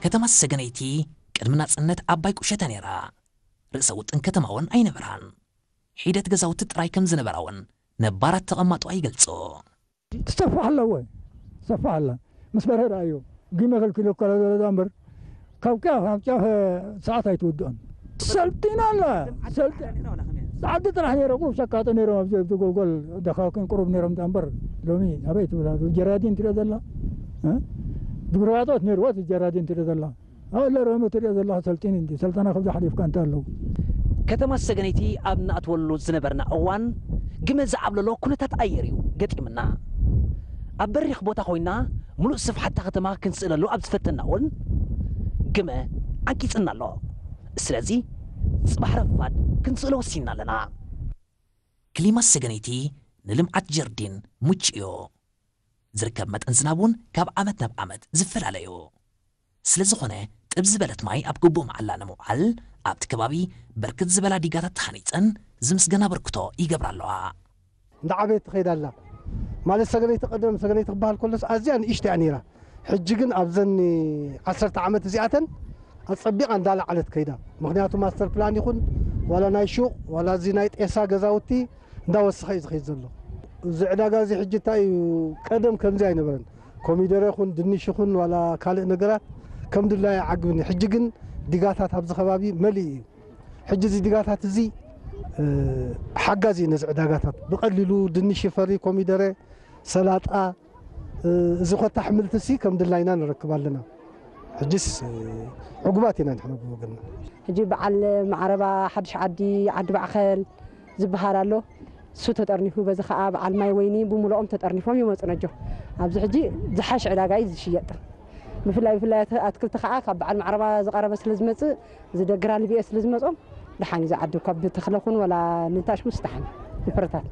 ከተማ ሰገነይቲ ቅድሚ ናጽነት ዓባይ ቁሸተ ነይራ። ርእሰ ውጥን ከተማ እውን ኣይነበራን። ሒደት ገዛውቲ ጥራይ ከም ዝነበራ እውን ነባራት ተቐማጦ ይገልጹ። ትሰፋሕ ኣለዎ። ትሰፋሕ ኣላ። ምስ በርሀ ደኣ እዩ። ጊመ ከልኪሉ እኮ ዘሎ እምበር ካብ ጫፍ ናብ ጫፍ ሰዓት ኣይትውድኦን። ሰልጢና ኣላ። ሰልጢ-፣ ጸዓዲ ጥራሕ ነይረ፣ ቁሩብ ሸቃጦ ነይሮም ኣብዚ፣ ኣብዚ ጎልጎል ደካኩን ቁሩብ ነይሮም እምበር ሎሚ ኣበይ ትብላ? ጀራዲን ትሪኦ ዘላ? እ? ድጉርባጦት ነይርዎ፣ ጀራዲን ትሪኦ ዘላ? ኣለ ሮሚ ትሪኦ ዘለኻ ሰልጢን እንዲ ሰልጠና ከብዛ ሓሊፍካ እንታይ ኣለዉ? ከተማ ሰገነይቲ ኣብ ንኣትወሉ ዝነበርና እዋን ግመ ዝዓብለሎ ኩነታት ኣየር እዩ ገጢምና። ኣብ በሪኽ ቦታ ኮይና ምሉእ ስፍሓት እታ ከተማ ክንስእለሉ ኣብ ዝፈተና እውን ግመ ዓንቂጽና ኣሎ። ስለዚ ጽባሕ ረፋድ ክንስእሎ ወሲንና ኣለና። ክሊማ ሰገነይቲ ንልምዓት ጀርዲን ምቹእ እዩ። ዝርከብ መጠን ዝናብ እውን ካብ ዓመት ናብ ዓመት ዝፈላለ እዩ። ስለ ዝኾነ ጥብ ዝበለት ማይ ኣብ ግቡእ መዓላ ንምውዓል ኣብቲ ከባቢ ብርክት ዝበላ ዲጋታት ተሃኒፀን ዝምስገን ኣበርክቶ ይገብራ ኣለዋ። እንዳዓበየት ትኸይድ ኣላ። ማለት ሰገነይቲ ቀደም ሰገነይቲ ክበሃል ከሎስ ኣዝያ ንእሽቶ እያ ነይራ። ሕጂ ግን ኣብዘን ዓሰርተ ዓመት እዚኣተን ኣጸቢቓ እንዳለዓለት ከይዳ። ምኽንያቱ ማስተር ፕላን ይኹን ዋላ ናይ ሹቕ ዋላ እዚ ናይ ጤሳ ገዛውቲ እንዳወሰኸ እዩ ዝኸይድ ዘሎ። እዚ ዕዳጋ እዚ ሕጂ እንታይ እዩ፣ ቀደም ከምዚ ኣይነበረን። ኮሚደረ ይኹን ድንሽ ይኹን ዋላ ካልእ ነገራት ከም ድላዩ ኣይዓግብን እዩ። ሕጂ ግን ዲጋታት ኣብዚ ከባቢ መሊኡ እዩ። ሕጂ እዚ ዲጋታት እዚ፣ እ፣ ሓጋዚ እዩ ነዚ ዕዳጋታት። ብቐሊሉ ድንሽ ይፈሪ፣ ኮሚደረ፣ ሰላጣ፣ እ፣ እዚ ኮታ ኣሕምልቲ ሲ ከም ድላይና ንረክብ ኣለና። ሕጂስ፣ እ፣ ዕጉባት ኢና ንሕና ብወገንና። ሕጂ በዓል ማዕረባ፣ ሓድሽ ዓዲ፣ ዓዲ ማዕኸል ዝበሃል ኣሎ። እሱ ተጠርኒፉ፣ በዚ ኸዓ በዓል ማይ ወይኒ ብምልኦም ተጠርኒፎም ይመፁ ነጆ። ኣብዚ ሕጂ ዝሓሽ ዕዳጋ እዩ ዝሽየጥ። ብፍላይ፣ ብፍላይ ኣት-፣ ኣትክልቲ ኸዓ ካብ በዓል ማዕረባ ዝቐረበ ስለ ዝመፅእ፣ እዚ ደግራ ልብኤ ስለ ዝመፆም፣ ደሓን እዩ ዝዓዲ። ካብ ተኽለ ኹን ወላ ንንታሽ ምስ ደሓን እዩ ፍረታት።